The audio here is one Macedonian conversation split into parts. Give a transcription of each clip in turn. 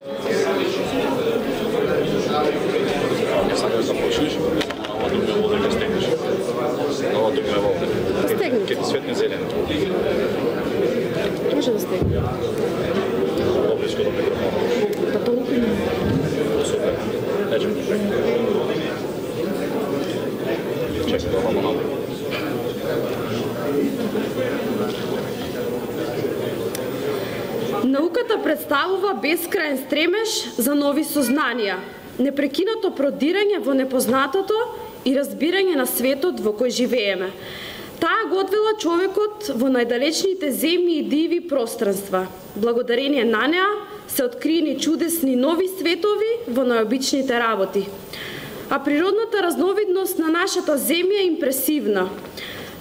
Не сакаш да почнеш, ова друга вода ќе стегнеш. Ова друга вода. Ќе ти светне зелено. Може да стегне. Поблиско до микрофона. Па толку не. Супер. Лечем. Чекай да ова малку. Науката представува бескраен стремеж за нови сознанија, непрекинато продирање во непознатото и разбирање на светот во кој живееме. Таа го одвела човекот во најдалечните земји и диви пространства. Благодарение на неа се откриени чудесни нови светови во најобичните работи. А природната разновидност на нашата земја е импресивна.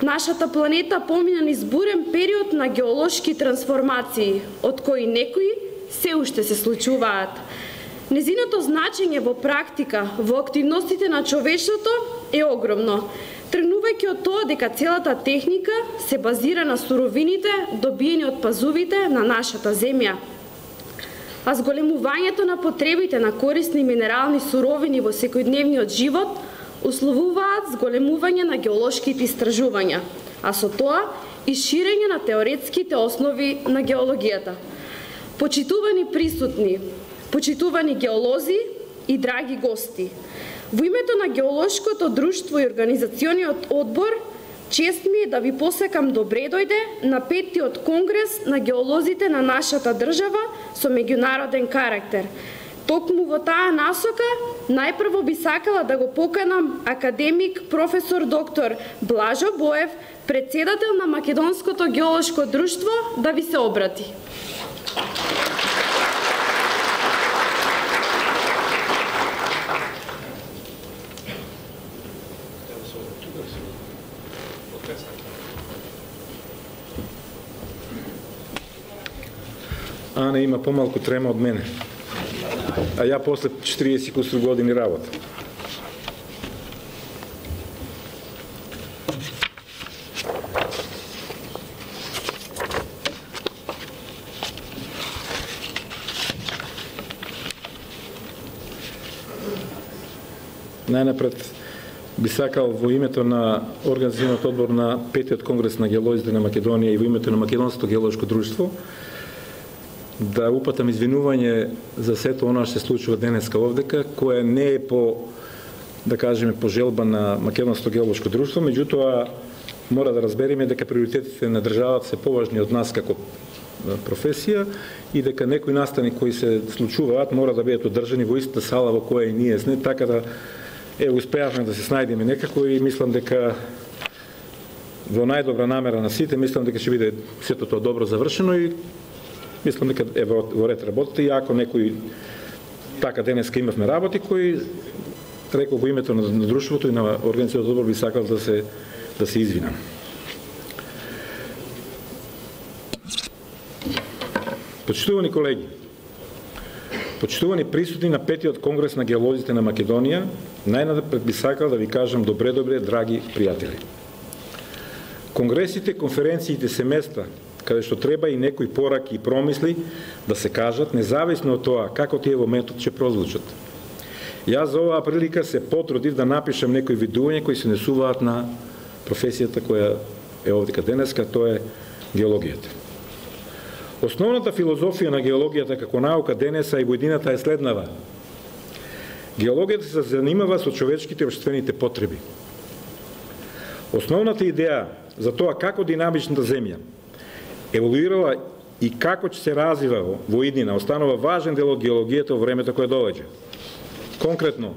Нашата планета помина низ бурен период на геолошки трансформации, од кои некои се уште се случуваат. Незиното значење во практика, во активностите на човештвото е огромно, тргнувајќи од тоа дека целата техника се базира на суровините добиени од пазувите на нашата земја. А зголемувањето на потребите на корисни минерални суровини во секојдневниот живот условуваат зголемување на геолошките истражувања, а со тоа и ширење на теоретските основи на геологијата. Почитувани присутни, почитувани геолози и драги гости, во името на Геолошкото друштво и организациониот одбор, чест ми е да ви посакам добре дојде на 5-тиот конгрес на геолозите на нашата држава со меѓународен карактер. Токму во таа насока, најпрво би сакала да го поканам академик професор доктор Блажо Боев, председател на Македонското геолошко друштво, да ви се обрати. Ана има помалку трема од мене. А ја после 40 кусур години работа. Најнапред би сакал во името на организациониот одбор на 5-тиот конгрес на геолозите на Македонија и во името на Македонското геолошко друштво да упатам извинување за сето она што се случува денеска овдека, кое не е по, да кажеме, по желба на Македонското геолошко друштво, меѓутоа мора да разбереме дека приоритетите на државата се поважни од нас како професија и дека некои настани кои се случуваат мора да бидат одржани во истата сала во која и ние сме, така да успеавме да се снајдеме некако и мислам дека во најдобра намера на сите, мислам дека ќе биде сето тоа добро завршено и мислам дека е во ред работите и ако некој така денеска имавме работи кои рекол во името на друштвото и на организациониот одбор би сакал да се извинам. Почитувани колеги, почитувани присутни на 5-тиот конгрес на геолозите на Македонија, најнапред би сакал да ви кажам добре, драги пријатели. Конгресите, конференциите се места каде што треба и некои пораки и промисли да се кажат, независно од тоа како тие во моментот ќе прозвучат. Јас за оваа прилика се потрудив да напишам некои видувања кои се несуваат на професијата која е овдека денеска, тоа е геологијата. Основната филозофија на геологијата како наука денеса и во иднината е следнава. Геологијата се занимава со човечките и општествените потреби. Основната идеја за тоа како динамичната земја еволуирала и како ќе се развива во иднина останува важен дел од геологијата во времето кое доаѓа. Конкретно,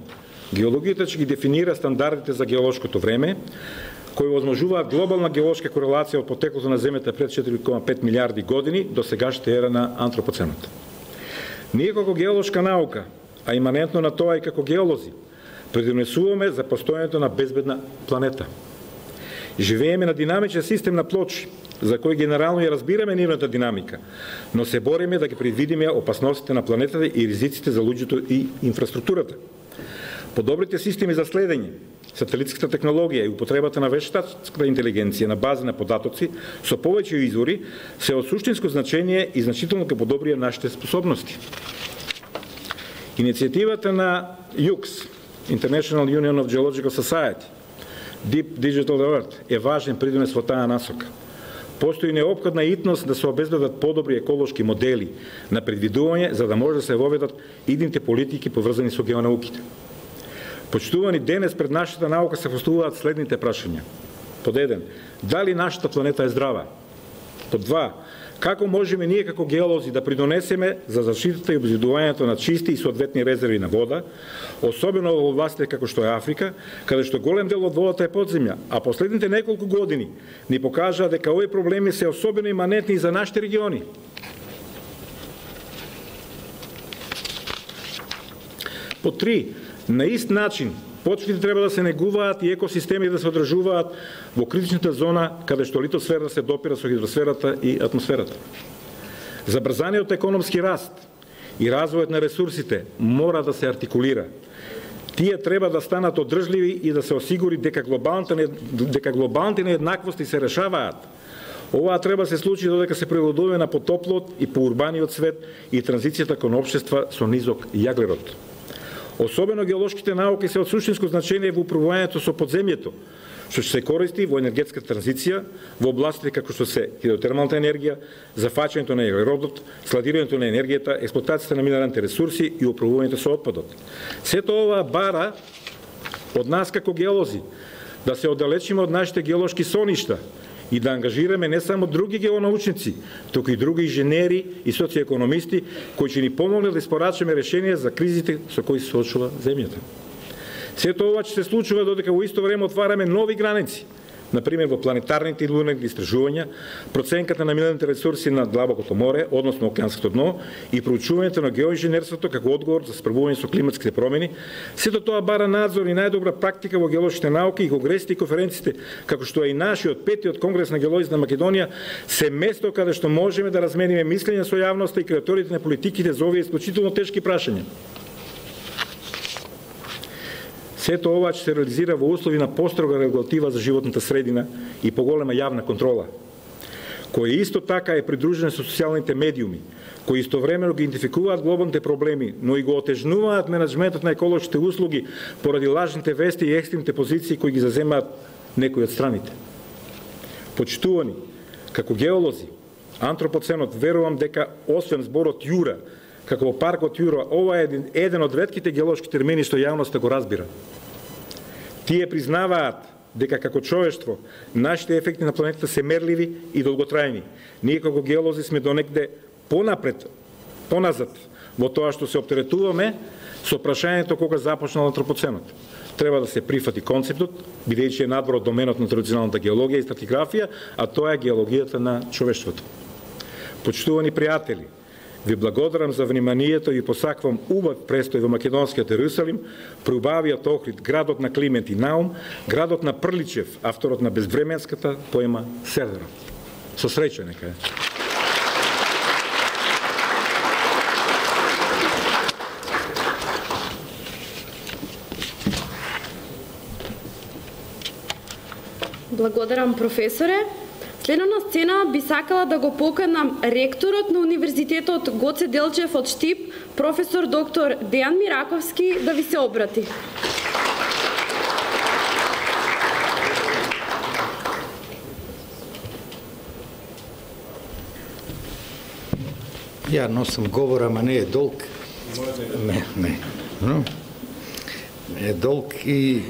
геологијата ќе ги дефинира стандардите за геолошкото време, кои возможуваат глобална геолошка корелација од потеклото на земјата пред 4,5 милиарди години до сегашната ера на антропоценот. Ние како геолошка наука, а иманентно на тоа и како геолози, предонесуваме за постојањето на безбедна планета. Живееме на динамичен систем на плочи, за кој генерално ја разбираме нивната динамика, но се бориме да ги предвидиме опасностите на планетата и ризиците за луѓето и инфраструктурата. Подобрите системи за следење, сателитската технологија и употребата на вештачката интелигенција на база на податоци со повеќе извори се од суштинско значење и значително ќе подобрија нашите способности. Иницијативата на UX, International Union of Geological Society, Deep Digital Earth, е важен придонес во таа насока. Постои неопходна итност да се обезбедат подобри еколошки модели на предвидување за да може да се воведат идните политики поврзани со геонауките. Почитувани, денес пред нашата наука се поставуваат следните прашања. Под 1. Дали нашата планета е здрава? Под 2. Како можеме ние како геолози да придонесеме за заштитата и обезбедувањето на чисти и соодветни резерви на вода, особено во областите како што е Африка, каде што голем дел од водата е подземја, а последните неколку години ни покажаа дека овие проблеми се особено иманентни за нашите региони. По 3. На ист начин, почвите треба да се негуваат и екосистеми да се одржуваат во критичната зона каде што литосфера се допира со хидросферата и атмосферата. Забрзаниот економски раст и развојот на ресурсите мора да се артикулира. Тие треба да станат одржливи и да се осигури дека глобалните нееднаквости се решаваат. Ова треба се случи додека се прилагодуваме на потоплот и поурбаниот свет и транзицијата кон општества со низок јаглерод. Особено геолошките науки се од суштинско значење во управувањето со подземјето, што ќе се користи во енергетската транзиција, во областите како што се хидротермалната енергија, зафаќањето на јаглеродот, складирањето на енергијата, експлоатацијата на минералните ресурси и управувањето со отпадот. Сето ова бара од нас како геолози да се оддалечиме од нашите геолошки соништа и да ангажираме не само други геонаучници, туку и други инженери и социоекономисти кои ќе ни помогнат да испорачаме решенија за кризите со кои се соочува земјата. Сето ова ќе се случува додека во исто време отвараме нови граници, например во планетарните и лунарните истражувања, проценката на минералните ресурси на длабокото море, односно океанското дно, и проучувањето на геоинженерството како одговор за справување со климатските промени. Сето тоа бара надзор и најдобра практика во геолошките науки и конгресите и конференциите, како што е и нашиот 5-тиот конгрес на геолозите на Македонија, се место каде што можеме да размениме мислења со јавноста и креаторите на политиките за овие исклучително тешки прашања. Сето ова ќе се реализира во услови на построга регулатива за животната средина и поголема јавна контрола, која исто така е придружена со социјалните медиуми, кои истовремено ги идентификуваат глобалните проблеми, но и го отежнуваат менеджментот на еколошките услуги поради лажните вести и екстремните позиции кои ги заземаат некои од страните. Почитувани, како геолози, антропоценот, верувам дека освен зборот Јура, како во паркот Јура, ова е еден од ретките геолошки термини што јавноста го разбира. Тие признаваат дека како човештво нашите ефекти на планетата се мерливи и долготрајни. Ние како геолози сме донекде поназад во тоа што се оптеретуваме со прашањето кога започнал антропоценот. Треба да се прифати концептот, бидејќи е надвор од доменот на традиционалната геологија и стратиграфија, а тоа е геологијата на човештвото. Почитувани пријатели, ви благодарам за вниманието и посаквам убав престој во македонскиот Ерусалим, преубавиот Охрид, градот на Климент и Наум, градот на Прличев, авторот на безвременската поема Сердера. Со среќа нека е. Благодарам, професоре. Следно на сцена би сакала да го поканам ректорот на Универзитетот Гоце Делчев од Штип, професор доктор Дејан Мираковски, да ви се обрати. Ја носам говор, ама не е долг. Не е долг и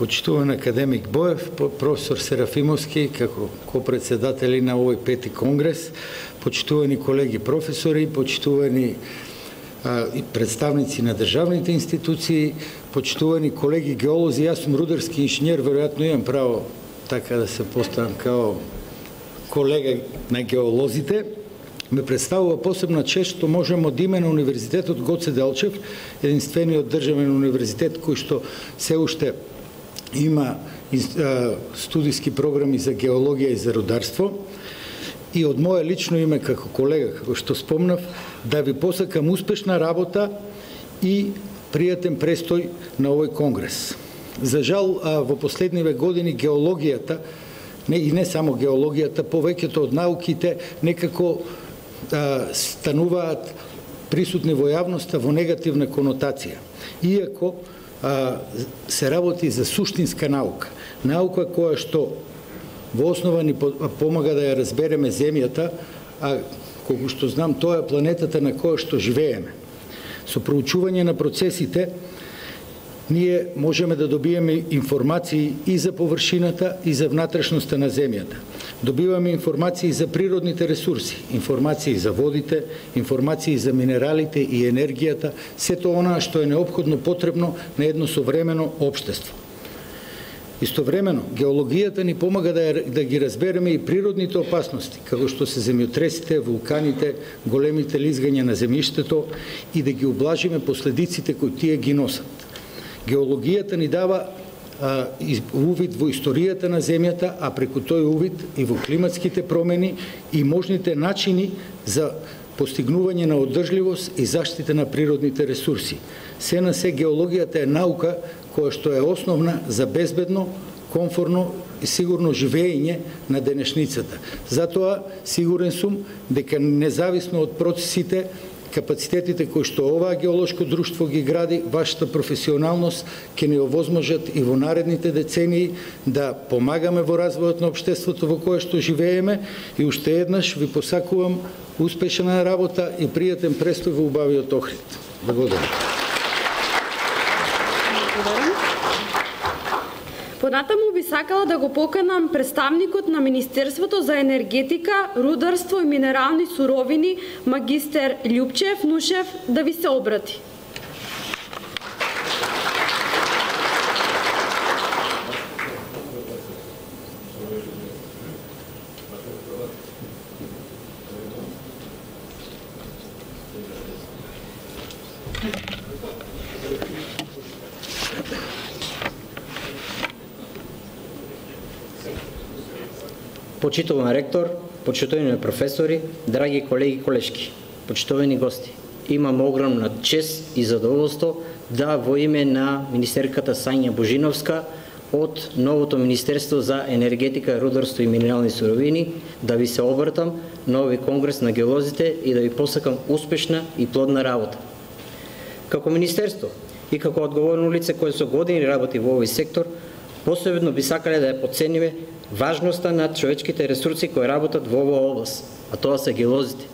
почитуван академик Боев, професор Серафимовски, како копредседатели на овој 5-ти конгрес, почитувани колеги професори, почитувани и представници на државните институции, почитувани колеги геолози, јас сум рударски инженер, веројатно имам право така да се поставам као колега на геолозите. Ме представува посебна чест што можеме од име на Универзитетот Гоце Делчев, единствениот државен универзитет кој што се уште има студиски програми за геологија и за рударство, и од моје лично име како колега, како што спомнав, да ви посакам успешна работа и пријатен престој на овој конгрес. За жал, во последниве години геологијата, и не само геологијата, повеќето од науките некако стануваат присутни во јавноста во негативна конотација. Иако се работи за суштинска наука. Наука која што во основа ни помага да ја разбереме земјата, а колку што знам, тоа е планетата на која што живееме. Со проучување на процесите, ние можеме да добиеме информации и за површината и за внатрешноста на земјата. Добиваме информации за природните ресурси, информации за водите, информации за минералите и енергијата, сето она што е неопходно потребно на едно современо општество. Истовремено, геологијата ни помага да ги разбереме и природните опасности, како што се земјотресите, вулканите, големите лизгања на земјиштето и да ги облажиме последиците кои тие ги носат. Геологијата ни дава увид во историјата на земјата, а преку тој увид и во климатските промени и можните начини за постигнување на одржливост и заштита на природните ресурси. Се на се геологијата е наука која што е основна за безбедно, комфорно и сигурно живење на денешницата. Затоа сигурен сум дека независно од процесите, капацитетите кои што оваа геолошко друштво ги гради, вашата професионалност ќе ни овозможат и во наредните децении да помагаме во развојот на општеството во кое што живееме и уште еднаш ви посакувам успешна работа и пријатен престој во убавиот Охрид. Благодарам. Понатаму би сакала да го поканам представникот на Министерството за енергетика, рударство и минерални суровини, магистер Љупчев Нушев, да ви се обрати. Почитуван ректор, почитувани професори, драги колеги и колешки, почитувани гости. Имам огромна чест и задоволство да во име на министерката Сања Божиновска од новото Министерство за енергетика, рударство и минерални суровини да ви се обртам на овој конгрес на геолозите и да ви посакам успешна и плодна работа. Како министерство и како одговорно лице кое со години работи во овој сектор, посебно би сакале да ја потцениме важноста на човечките ресурси кои работат во оваа област, а тоа се геолозите,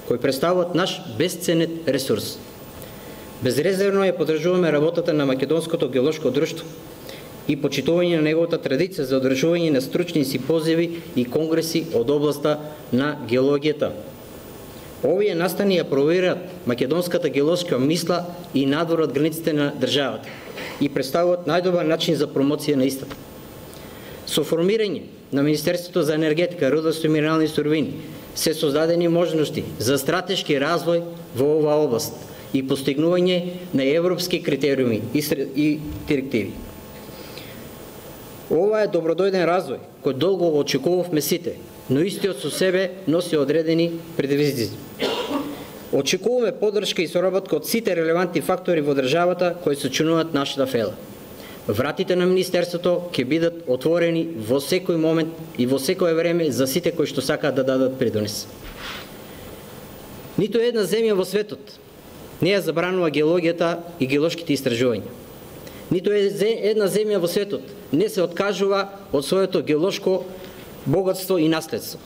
кои представуваат наш бесценет ресурс. Безрезервно ја поддржуваме работата на Македонското геолошко друштво и почитување на неговата традиција за одржување на стручни симпозиви и конгреси од областа на геологијата. Овие настани ја провираат македонската геолошка мисла и надвор од границите на државата и представуваат најдобар начин за промоција на истата. Со формирање на Министерството за енергетика, рударство и минерални суровини се создадени можности за стратешки развој во оваа област и постигнување на европски критериуми и директиви. Ова е добродојден развој кој долго го очекувавме сите, но истиот со себе носи одредени предизвици. Очекуваме поддршка и соработка од сите релевантни фактори во државата кои сочинуваат нашата фела. Вратите на Министерството ќе бидат отворени во секој момент и во секое време за сите кои што сакаат да дадат придонес. Ниту една земја во светот не ја забранува геологијата и геолошките истражувања. Ниту една земја во светот не се откажува од своето геолошко богатство и наследство.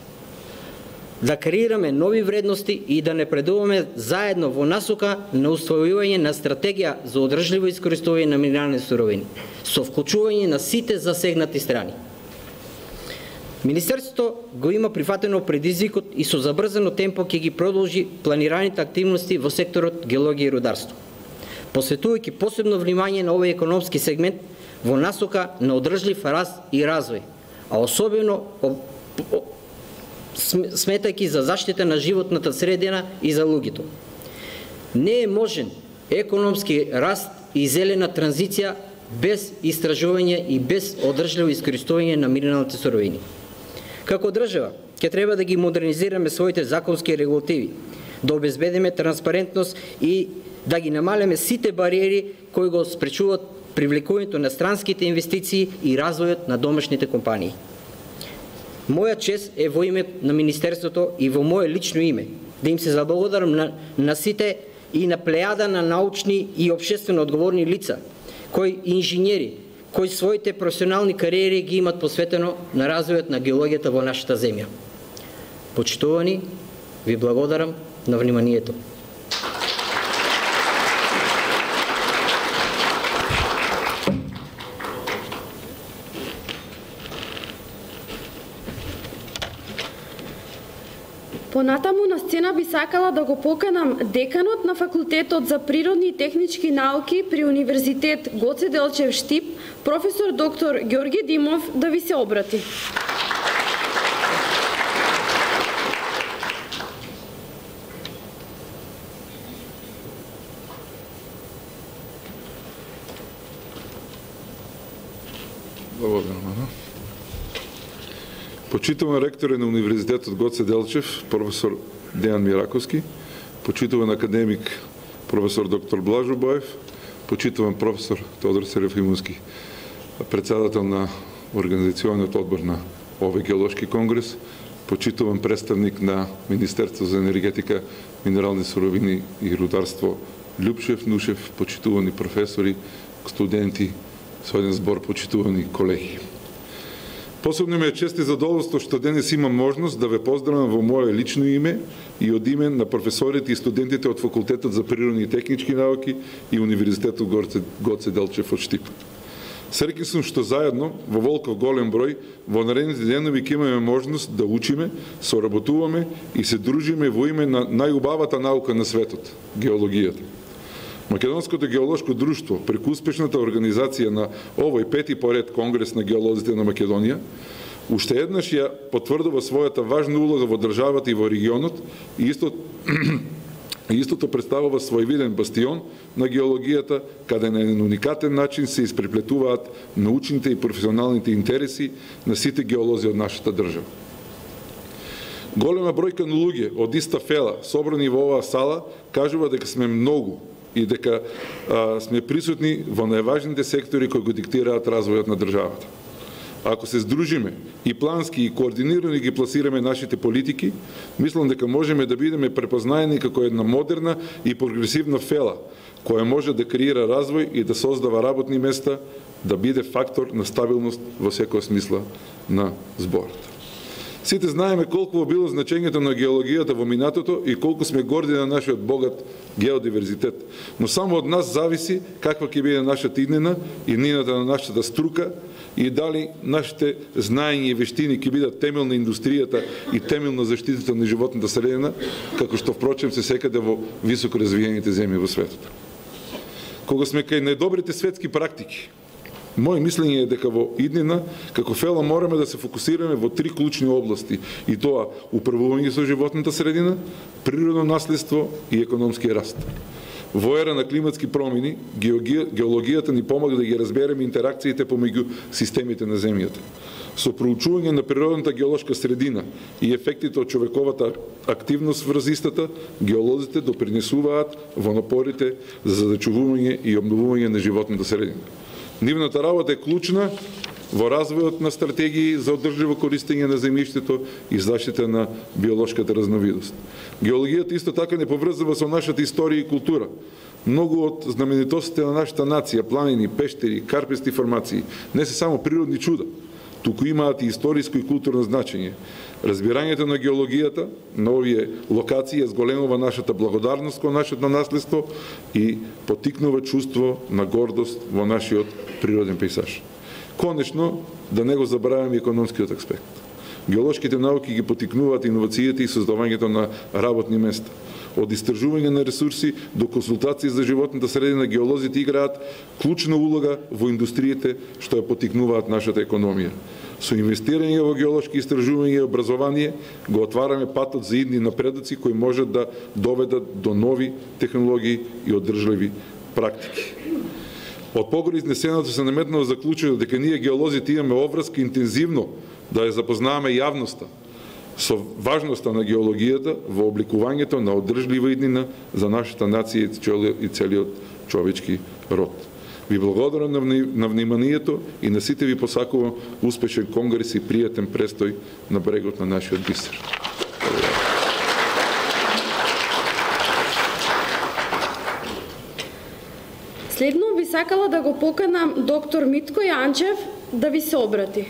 Да креираме нови вредности и да напредуваме заедно во насока на уствојување на стратегија за одржливо искористување на минерални суровини, со вклучување на сите засегнати страни. Министерството го има прифатено предизвикот и со забрзано темпо ќе ги продолжи планираните активности во секторот геологија и рударство, посветувајќи посебно внимание на овој економски сегмент во насока на одржлив раст и развој, а особено сметајќи за заштита на животната средина и за луѓето. Не е можен економски раст и зелена транзиција без истражување и без одржливо искористување на минералните суровини. Како држава, ќе треба да ги модернизираме своите законски регулативи, да обезбедиме транспарентност и да ги намалиме сите бариери кои го спречуваат привлекувањето на странските инвестиции и развојот на домашните компании. Моја чест е во име на Министерството и во мое лично име да им се заблагодарам на сите и на плејада на научни и општествено одговорни лица, кои инженери, кои своите професионални кариери ги имат посветено на развојот на геологијата во нашата земја. Почитувани, ви благодарам на вниманието. Понатаму на сцена би сакала да го поканам деканот на Факултетот за природни и технички науки при Универзитет Гоце Делчев Штип, професор доктор Ѓорги Димов, да ви се обрати. Благодарам. Почитуван ректор на Универзитетот Гоце Делчев, професор Дејан Мираковски, почитуван академик професор доктор Блажо Боев, почитуван професор Тодор Серафимовски, председател на Организационниот одбор на овој геолошки конгрес, почитуван представник на Министерство за енергетика, минерални суровини и рударство Љупшев Нушев, почитувани професори, студенти, со еден збор почитувани колеги. Посебно ми е чест и задоволство што денес имам можност да ве поздравам во моје лично име и од име на професорите и студентите од Факултетот за природни и технички науки и Универзитетот Гоце Делчев од Штип. Среќен сум што заедно, во волков голем број, во наредните денови ќе имаме можност да учиме, соработуваме и се дружиме во име на најубавата наука на светот – геологијата. Македонското геолошко друштво, преку успешната организација на овој пети поред Конгрес на геолозите на Македонија, уште еднаш ја потврдува својата важна улога во државата и во регионот и истото представува својвиден бастион на геологијата, каде на еден уникатен начин се испреплетуваат научните и професионалните интереси на сите геолози од нашата држава. Голема бројка на луѓе од иста фела, собрани во оваа сала, кажува дека сме многу и дека сме присутни во најважните сектори кои го диктираат развојот на државата. Ако се здружиме и плански и координирано ги пласираме нашите политики, мислам дека можеме да бидеме препознаени како една модерна и прогресивна фела, која може да креира развој и да создава работни места, да биде фактор на стабилност во секоја смисла на зборот. Сите знаеме колку било значењето на геологијата во минатото и колку сме горди на нашиот богат геодиверзитет. Но само од нас зависи каква ќе биде нашата иднина и иднината на нашата струка и дали нашите знаења и вештини ќе бидат темел на индустријата и темел на заштитата на животната средина, како што впрочем се секаде во високо развиените земји во светот. Кога сме кај најдобрите светски практики, мој мислење е дека во иднина, како фела, мораме да се фокусираме во три клучни области, и тоа управување со животната средина, природно наследство и економски раст. Во ера на климатски промени, геологијата ни помага да ги разбереме интеракциите помеѓу системите на земјата. Со проучување на природната геолошка средина и ефектите од човековата активност врз истата, геолозите допринесуваат во напорите за зачувување и обновување на животната средина. Нивната работа е клучна во развојот на стратегии за одржливо користење на земјиштето и заштита на биолошката разновидност. Геологијата исто така не поврзува со нашата историја и култура. Многу од знаменитостите на нашата нација, планини, пештери, карпести формации, не се само природни чуда, туку имаат и историско и културно значење. Разбирањето на геологијата на овие локации зголемува нашата благодарност кон нашето наследство и потикнува чувство на гордост во нашиот природен пејзаж. Конечно, да не го забравяме економскиот аспект. Геолошките науки ги потикнуваат иновациите и создавањето на работни места. Од истражување на ресурси до консултации за животната средина, геолозите играат клучна улога во индустриите што ја потикнуваат нашата економија. Со инвестирање во геолошки истражување и образование го отвараме патот за идни напредоци кои можат да доведат до нови технологии и одржливи практики. Од погоре изнесеното се наметнало заклучува дека ние геолозите имаме обврска интензивно да ја запознаваме јавноста со важноста на геологијата во обликувањето на одржлива иднина за нашата нација и целиот човечки род. Ви благодарам на вниманието и на сите ви посакувам успешен конгрес и пријатен престој на брегот на нашиот бисер. сакала да го поканам доктор Митко Јанчев да ви се обрати.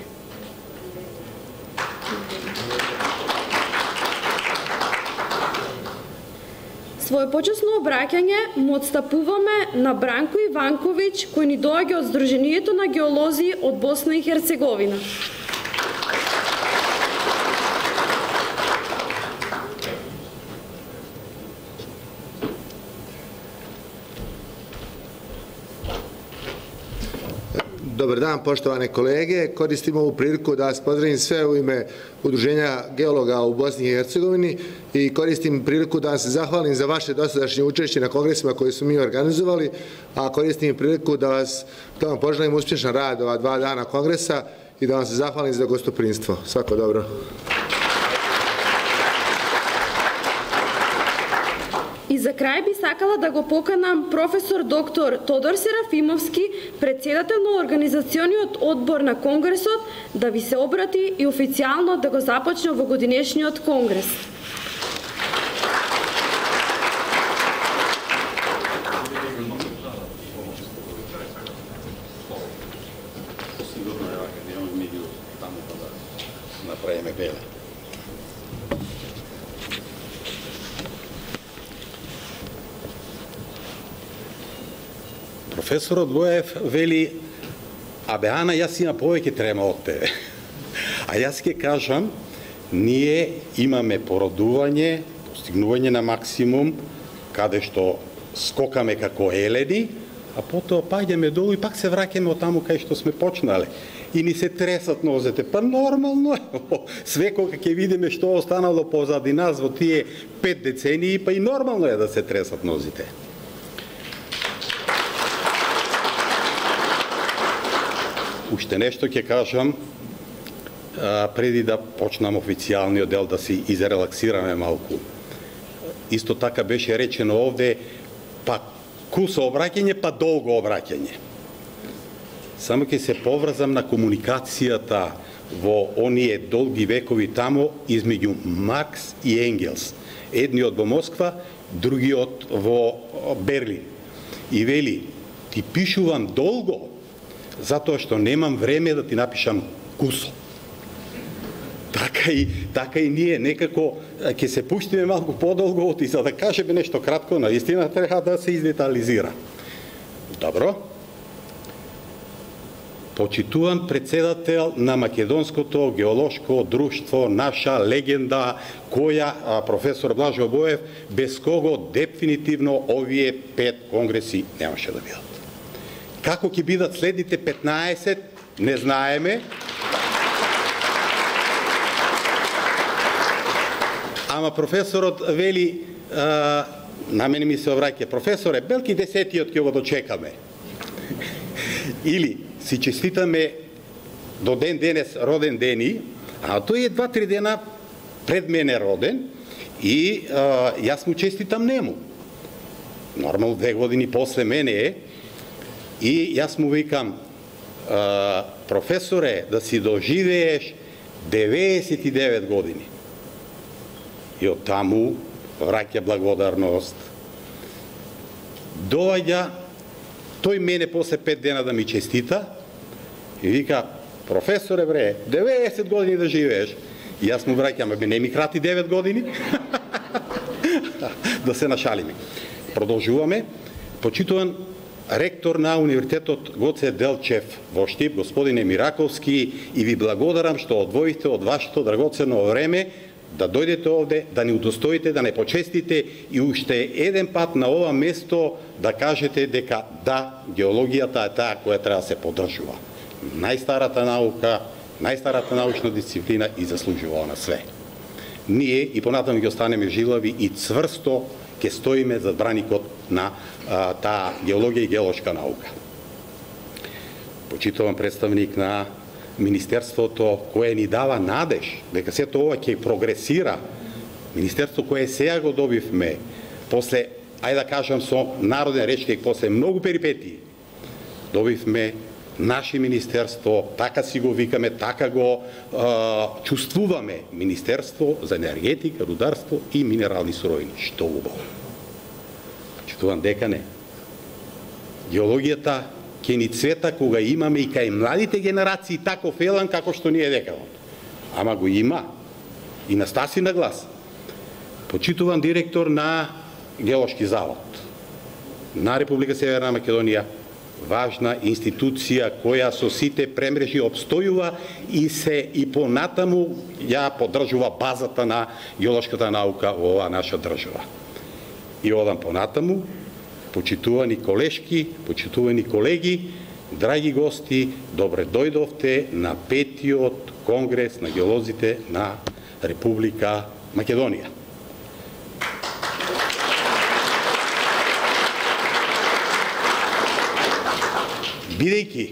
Својопочесно обраќање му отстапуваме на Бранко Иванковиќ, кој ни доаѓа од Сдруженијето на геолози од Босна и Херцеговина. Dobar dan, poštovane kolege. Koristim ovu priliku da vas pozdravim sve u ime Udruženja geologa u Bosni i Hercegovini i koristim priliku da vam se zahvalim za vaše dosadašnje učešće na kongresima koje su mi organizovali, a koristim priliku da vam poželim uspješan rad ova 2 dana kongresa i da vam se zahvalim za gostoprimstvo. Svako dobro. И за крај би сакала да го поканам професор доктор Тодор Серафимовски, председател на Организациониот одбор на Конгресот, да ви се обрати и официјално да го започне во годинешниот Конгрес. Направиме беле. Професорот Боев вели, абе Ана, јас имам повеќе трема од тебе. А јас ќе кажам, ние имаме породување, постигнување на максимум, каде што скокаме како елени, а потоа паѓаме долу и пак се враќаме од таму кај што сме почнале. И ни се тресат нозете. Па нормално е. Све кога ќе видиме што останало позади нас во тие 5 децении, па и нормално е да се тресат нозите. Уште нешто ќе кажам, преди да почнам официјалниот дел, да си изрелаксираме малку. Исто така беше речено овде, па кусо обраќање, па долго обраќање. Само ќе се поврзам на комуникацијата во оние долги векови тамо измеѓу Маркс и Енгелс. Едниот во Москва, другиот во Берлин. И вели, ти пишувам долго, затоа што немам време да ти напишам кусо. Така и ние некако ќе се пуштиме малку подолго и за да кажеме нешто кратко, наистина треба да се издетализира. Добро. Почитуван председател на Македонското геолошко друштво, наша легенда, која професор Блажо Боев, без кого дефинитивно овие 5 конгреси немаше да бидат. Како ќе бидат следните 15, не знаеме. Ама професорот вели, на мене ми се обраќа, професоре, белки 10-тиот ќе го дочекаме. Или си честитаме до ден денес роден дени, а тој е 2-3 дена пред мене роден и јас му честитам нему. Нормално 2 години после мене е. И јас му викам, професоре, да си доживееш 99 години. И од таму враќа благодарност. Доаѓа, тој мене после 5 дена да ми честита и вика, професоре бре, 90 години да живееш. И јас му враќам, абе не ми крати 9 години. Да се нашалиме. Продолжуваме. Почитуван ректор на Универзитетот Гоце Делчев во Штип, господине Мираковски, и ви благодарам што одвоите од вашето драгоцено време да дојдете овде, да ни удостоите, да не почестите и уште еден пат на ова место да кажете дека да, геологијата е таа која треба да се поддржува. Најстарата наука, најстарата научна дисциплина и заслужува на све. Ние и понатаму ќе останеме жилави и цврсто ќе стоиме зад браникот на таа геологија и геолошка наука. Почитувам представник на Министерството кое ни дава надеж дека сето ова ќе прогресира. Министерство кое сега го добивме после, ајде да кажам со народен речник, после многу перипетии, добивме наше министерство, така си го викаме, така го чувствуваме, Министерство за енергетика, рударство и минерални суровини. Што убаво. Чувствувам дека не. Геологијата ќе ни цвета кога имаме и кај младите генерации таков елан како што ние декавот. Ама го има и на Стаси на глас. Почитуван директор на Геолошки завод на Република Северна Македонија, важна институција која со сите премрежи обстојува и понатаму ја поддржува базата на геолошката наука во оваа наша држава. И одам понатаму, почитувани колешки, почитувани колеги, драги гости, добре дојдовте на 5-тиот конгрес на геолозите на Република Македонија. Бидејќи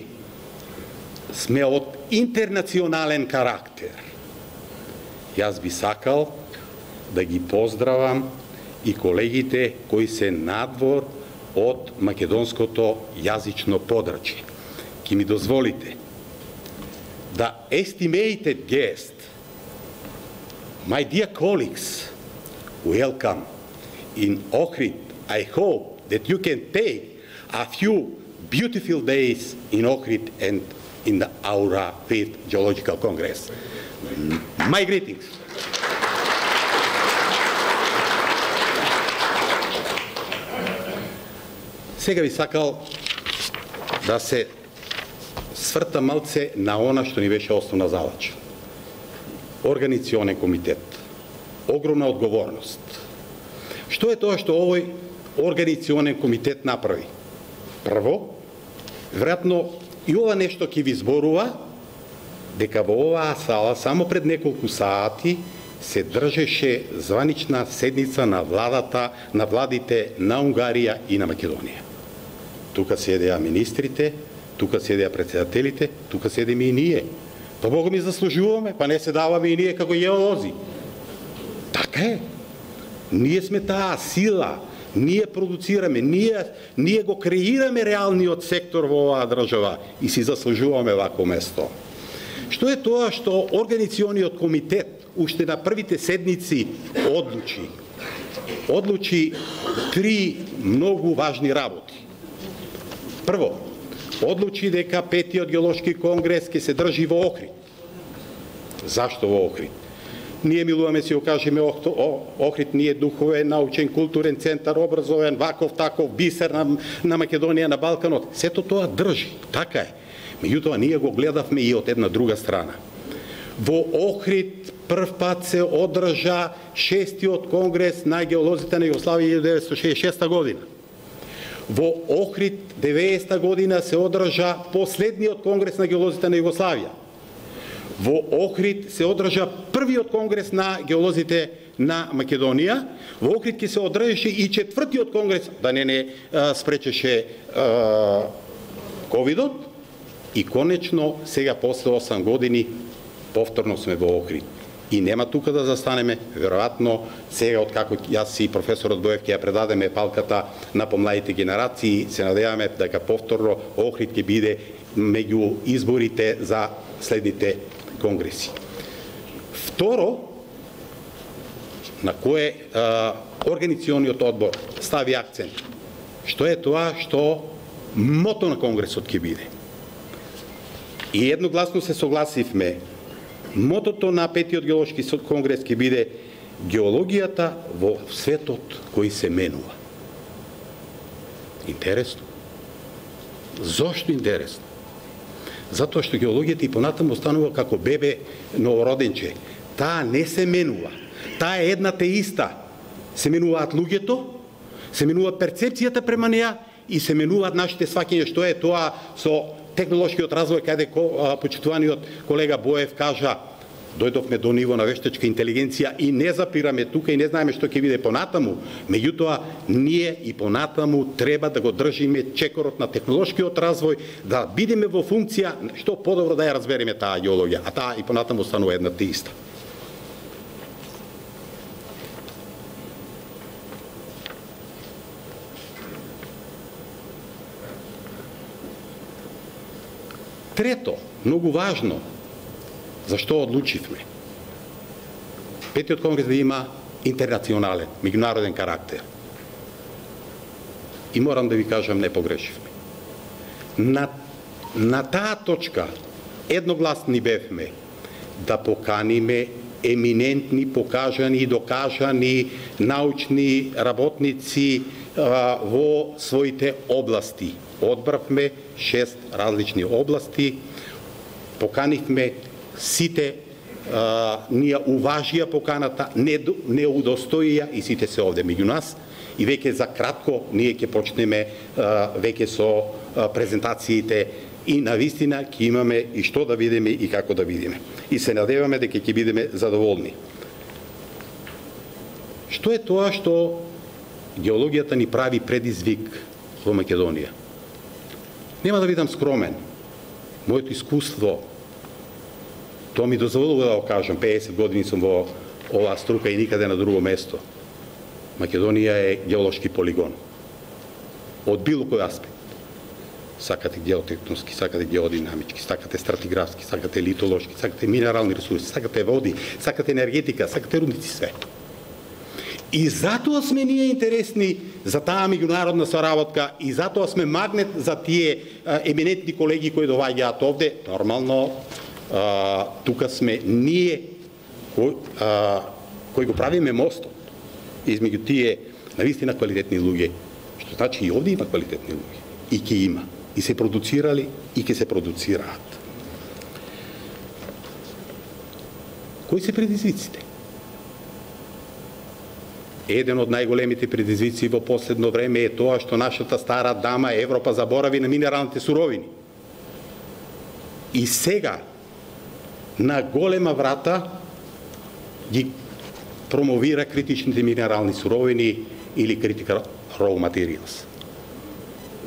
сме од интернационален карактер, јас би сакал да ги поздравам и колегите кои се надвор од македонското јазично подрачје. Ки ми дозволите да estimated guest, my dear colleagues, welcome in Ohrid. I hope that you can take a few beautiful days in Ohrid and in the Aura 5th Geological Congress. My greetings. Сега би сакал да се сврта малце на она што ни беше основна задача. Организационен комитет. Огромна одговорност. Што е тоа што овој организационен комитет направи? Прво, веројатно и ова нешто ќе ви зборува дека во оваа сала само пред неколку сати се држеше званична седница на владите на Унгарија и на Македонија. Тука седеа министрите, тука седеа председателите, тука седеме и ние. Па Бога ми заслужуваме, па не се даваме и ние како геолози. Така е. Ние сме таа сила, ние продуцираме, ние го креираме реалниот сектор во оваа држава и си заслужуваме вако место. Што е тоа што Организациониот комитет уште на првите седници одлучи три многу важни работи. Прво, одлучи дека 5-тиот геолошки конгрес ќе се држи во Охрид. Зашто во Охрид? Ние милуваме си окажеме Охрид, ние духовен, научен, културен центар, образовен, ваков, таков, бисер на Македонија, на Балканот. Сето тоа држи, така е. Меѓутоа, ние го гледавме и од една друга страна. Во Охрид прв пат се одржа 6-тиот конгрес на геолозите на Југославија 1966 година. Во Охрид 90 година се одржа последниот конгрес на геолозите на Југославија. Во Охрид се одржа првиот конгрес на геолозите на Македонија. Во Охрид ќе се одржеше и 4-тиот конгрес, да не спречеше ковидот. И конечно, сега после 8 години, повторно сме во Охрид. И нема тука да застанеме, веројатно сега откако јас и професорот Боев ќе ја предадеме палката на помладите генерации, се надеваме дека повторно Охрид ќе биде меѓу изборите за следните конгреси. Второ, на кое Организациониот одбор стави акцент, што е тоа што мото на конгресот ќе биде. И едногласно се согласивме, мотото на 5-тиот геолошки конгрес ќе биде геологијата во светот кој се менува. Интересно. Зошто интересно? Затоа што геологијата и понатаму останува како бебе новороденче. Таа не се менува. Таа е една те иста. Се менуваат луѓето, се менува перцепцијата према неа и се менуваат нашите сваќања, што е тоа со технолошкиот развој, каде почитуваниот колега Боев кажа, дојдовме до ниво на вештачка интелигенција и не запираме тука и не знаеме што ќе биде понатаму, меѓутоа ние и понатаму треба да го држиме чекорот на технолошкиот развој, да бидеме во функција што подобро да ја разбереме таа геологија, а таа и понатаму станува една те иста. Трето, многу важно, зашто одлучивме? 5-тиот конгрес да има интернационален, меѓународен карактер. И морам да ви кажам, не погрешивме. На таа точка едногласни бевме да поканиме еминентни, покажани и докажани научни работници во своите области. Одбравме 6 различни области, поканивме сите, ние уважија поканата, не удостоија и сите се овде меѓу нас, и веќе за кратко ние ќе почнеме веќе со презентациите и навистина ќе имаме и што да видиме и како да видиме. И се надеваме дека ќе бидеме задоволни. Што е тоа што геологијата ни прави предизвик во Македонија? Нема да бидам скромен. Моето искуство, тоа ми дозволува да го кажам, 50 години сум во оваа струка и никаде на друго место. Македонија е геолошки полигон. Од било кој аспект. Сакате геотектонски, сакате геодинамички, сакате стратиграфски, сакате литолошки, сакате минерални ресурси, сакате води, сакате енергетика, сакате рудници, све. И затоа сме ние интересни за таа меѓународна соработка и затоа сме магнет за тие еминентни колеги кои доаѓаат овде. Нормално, тука сме ние кои го правиме мостот измеѓу тие навистина квалитетни луѓе, што значи и овде има квалитетни луѓе. И ќе има. И се продуцирали, и ќе се продуцираат. Кои се предизвиците? Еден од најголемите предизвици во последно време е тоа што нашата стара дама Европа заборави на минералните суровини. И сега на голема врата ги промовира критичните минерални суровини или critical raw materials.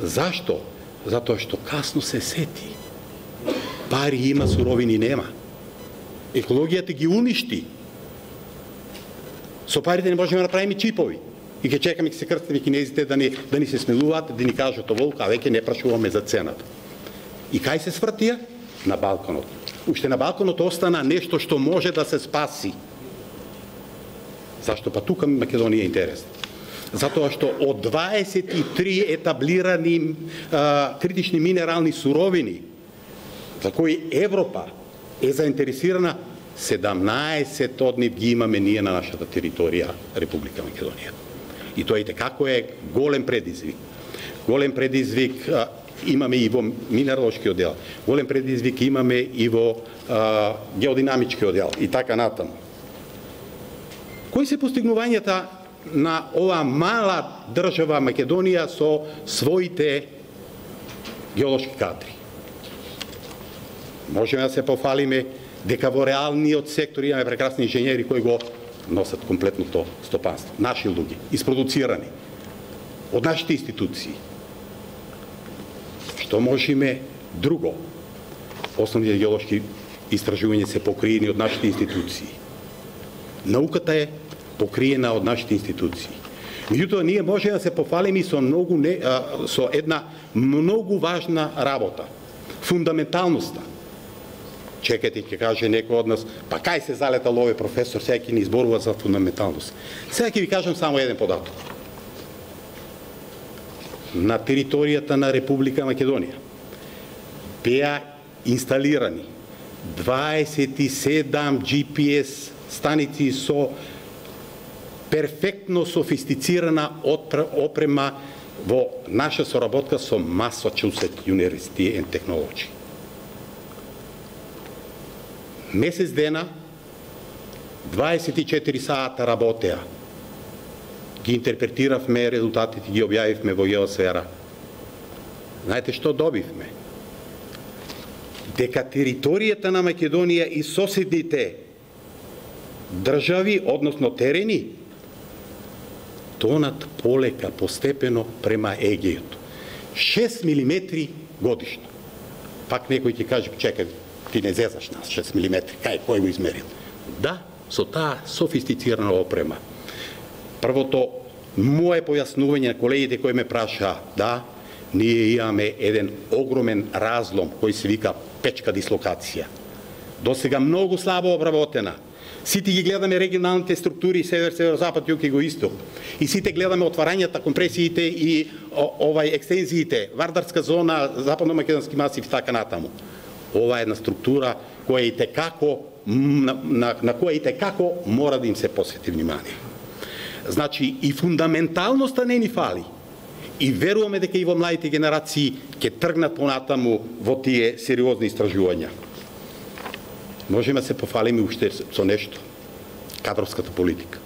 Зашто? Затоа што касно се сети. Пари има, суровини нема. Екологијата ги уништи. Со парите не можеме да направиме чипови. И ќе чекаме ќе се крстиме кинезите да ни се смилуваат, да ни кажат оволку, а веќе не прашуваме за цената. И кај се свртија? На Балканот. Уште на Балканот остана нешто што може да се спаси. Зашто па тука Македонија е интересна? Затоа што од 23 етаблирани критични минерални суровини за кои Европа е заинтересирана, 17 од нив ги имаме ние на нашата територија, Република Македонија. И тоа и како е голем предизвик. Голем предизвик имаме и во минералошки оддел, голем предизвик имаме и во геодинамички оддел и така натаму. Кои се постигнувањата на оваа мала држава Македонија со своите геолошки кадри? Можеме да се пофалиме дека во реалниот сектор имаме прекрасни инженери кои го носат комплетното стопанство. Наши луѓе, isproducirani од нашите институции. Што можеме друго? Основните геолошки истражувања се покриени од нашите институции. Науката е покриена од нашите институции. Меѓутоа, ние можеме да се пофалиме и со една многу важна работа. Фундаменталноста. Чекайте, ќе каже некој од нас, па кај се залетал овој професор, сега ќе ни изборува за фундаменталност. Сега ќе ви кажам само еден податок. На територијата на Република Македонија беа инсталирани 27 GPS станици со перфектно софистицирана опрема во наша соработка со Massachusetts University and Technology. Месец дена, 24 сата работеа. Ги интерпретиравме резултатите, ги објавивме во Геосфера. Знаете што добивме? Дека територијата на Македонија и соседните држави, односно терени, тонат полека, постепено према Егејот. 6 мм годишно. Пак некој ќе каже, чекај, ти не зезаш нас, 6 мм, кој го измерил? Да, со таа софистицирана опрема. Првото, мое појаснување на колегите кои ме праша, да, ние имаме еден огромен разлом кој се вика печка дислокација. Досега многу слабо обработена. Сите ги гледаме регионалните структури север, северо-запад, југ и юго-исток. И сите гледаме отварањата, компресиите и екстензиите, Вардарска зона, западно-македонски масив и така натаму. Ова е една структура која и текако на која и текако мора да им се посвети внимание. Значи и фундаменталноста не ни фали. И веруваме дека и во младите генерации ќе тргнат понатаму во тие сериозни истражувања. Можеме да се пофалиме уште со нешто. Кадровската политика.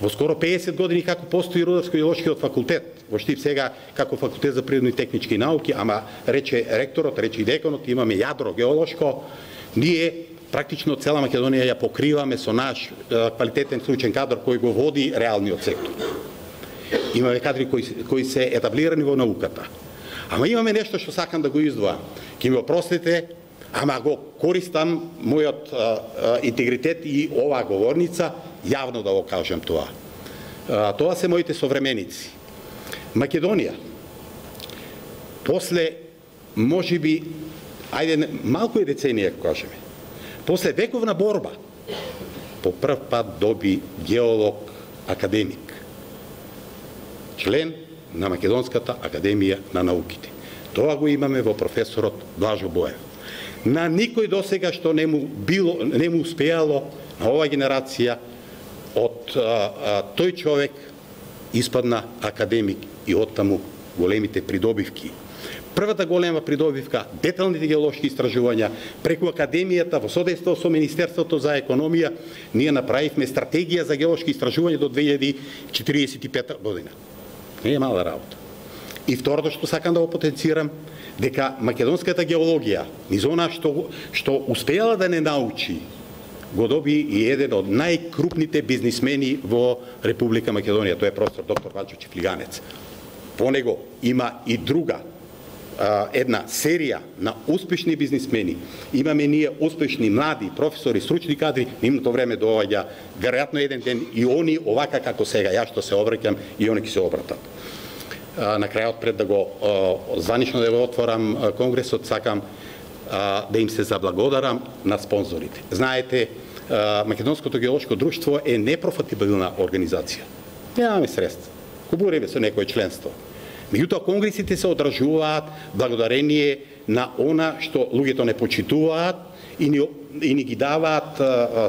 Во скоро 50 години како постои Рударско-геолошкиот факултет, во Штип сега како факултет за природни и технички науки, ама рече ректорот, рече и деканот, имаме јадро геолошко, ние практично цела Македонија ја покриваме со наш квалитетен случен кадар кој го води реалниот сектор. Имаме кадри кои се етаблирани во науката. Ама имаме нешто што сакам да го издвојам. Ке ми опростите, ама го користам мојот интегритет и оваа говорница јавно да го кажам тоа. Тоа се моите современици. Македонија, после, можеби, ајде, малку е деценија, кажеме, после вековна борба, по прв пат доби геолог академик, член на Македонската академија на науките. Тоа го имаме во професорот Блажо Боев. На никој досега што не му успеало на оваа генерација од тој човек испадна академик и оттаму големите придобивки. Првата голема придобивка, деталните геолошки истражувања, преку академијата во содейство со Министерството за економија, ние направивме стратегија за геолошки истражувања до 2045 година. Не е мала работа. И второто што сакам да го потенцирам, дека македонската геологија, низ она што успеала да не научи, го доби и еден од најкрупните бизнисмени во Република Македонија, тој е професор доктор Вачо Чифлиганец. По него има и друга една серија на успешни бизнисмени. Имаме ние успешни млади професори, стручни кадри, нивното време доаѓа веројатно еден ден и они овака како сега, ја што се обраќам и они ќе се обратат. На крајот, пред да го званично да го отворам конгресот, сакам да им се заблагодарам на спонзорите. Знаете, Македонското геолошко друштво е непрофитабилна организација. Немаме средства. Кубуреме со некое членство. Меѓутоа, конгресите се одржуваат благодарение на она што луѓето не почитуваат и ни ги даваат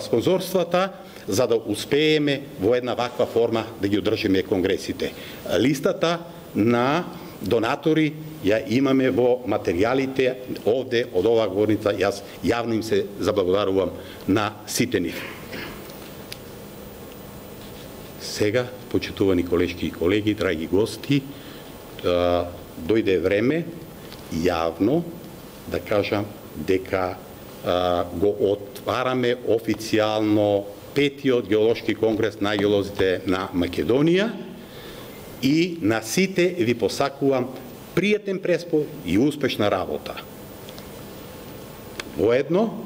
спонзорствата за да успееме во една ваква форма да ги одржиме конгресите. Листата на донатори ја имаме во материјалите овде од оваа говорница. Јас јавно им се заблагодарувам на сите нив. Сега, почитувани колешки и колеги, драги гости, дојде време јавно да кажам дека го отвараме официјално 5-тиот геолошки конгрес на геолозите на Македонија и на сите ви посакувам пријатен преспој и успешна работа. Воедно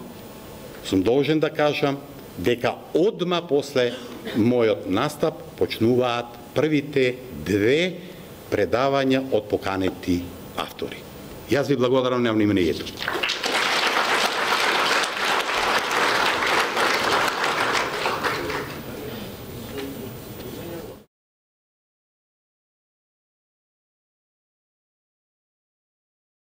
сум должен да кажам дека одма после мојот настап почнуваат првите 2 предавања од поканети автори. Јас ви благодарам на вниманието.